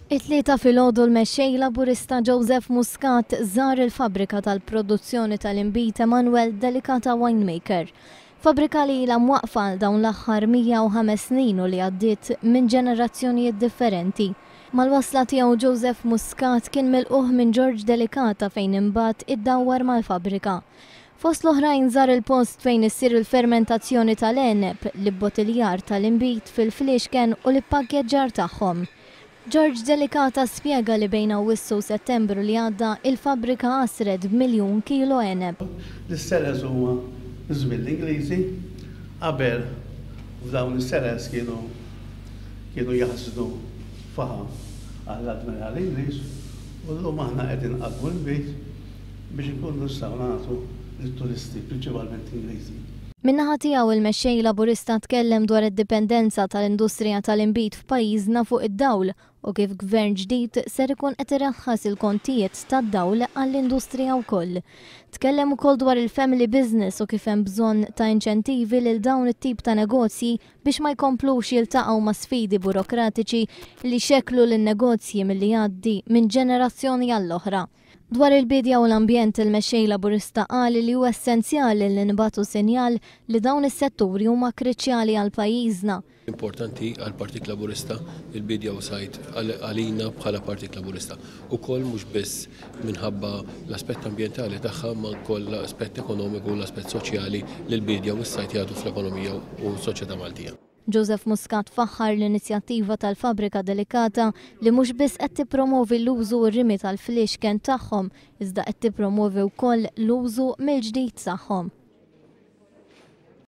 It-Tlieta filgħodu l-Mexxej Laburista Joseph Muscat żar il-fabbrika tal-produzzjoni tal-inbid Emanuel Delicata Winemaker. Fabbrika li ilha mwaqqfa għal dawn l-aħħar 105 snin u li għaddiet minn ġenerazzjonijiet differenti. Mal-wasla tiegħu Joseph Muscat kien milqugħ minn George Delicata fejn imbagħad iddawwar mal-fabbrika. Fost l-oħrajn żar il-post fejn issir il-fermentazzjoni tal-għeneb, l-ibbotiljar tal-inbid fil-fliexken u l-ippakkeġġar tagħhom. George Delicata spjega li bejn Awwissu u Settembru li għadda, il-fabbrika għasret b'miljun kilo għeneb. L-cellars huma żmien l-Ingliżi, qabel f'dawn is-cellars kienu kienu jaħżnu faħam għall-Admiral Ingliż u llum aħna qegħdin nqaddmu l-inbid biex inkunu nistgħu nagħtu lit-turisti, prinċipalment Ingliżi. Min-naħa tiegħu il-Mexxej Laburista tkellem dwar id-dipendenza tal-industrija tal-inbid f'pajjiżna fuq id-dawl u kif Gvern ġdid ser ikun qed iraħħas il-kontijiet tad-dawl għall-industrija wkoll. Tkellem ukoll dwar il-family business u kif hemm bżonn ta' inċentivi lil dawn it-tip ta' negozji biex ma jkomplux jiltaqgħu ma' sfidi burokratiċi li jxekklu lin-negozji milli jgħaddi minn ġenerazzjoni għall-oħra. Dwar il-biedja u l-ambjent, il-Mexxej Laburista qal li hu essenzjali li nibagħtu sinjal li dawn is-setturi huma kriċjali għal pajjiżna. Importanti għall-Partit Laburista il-biedja u sajd għalina bħala Partit Laburista. Ukoll mhux biss minħabba l-aspett ambjentali tagħha imma wkoll l-aspett ekonomiku u l-aspett soċjali li l-biedja u s-sajd jagħtu fl-ekonomija u s-soċjetà Maltija. Joseph Muscat faħħar l-inizjattiva tal-Fabbrika Delicata li mhux biss qed tippromovi l-użu u r-rimi tal-fliexken tagħhom iżda qed tippromovi wkoll l-użu mill-ġdid tagħhom.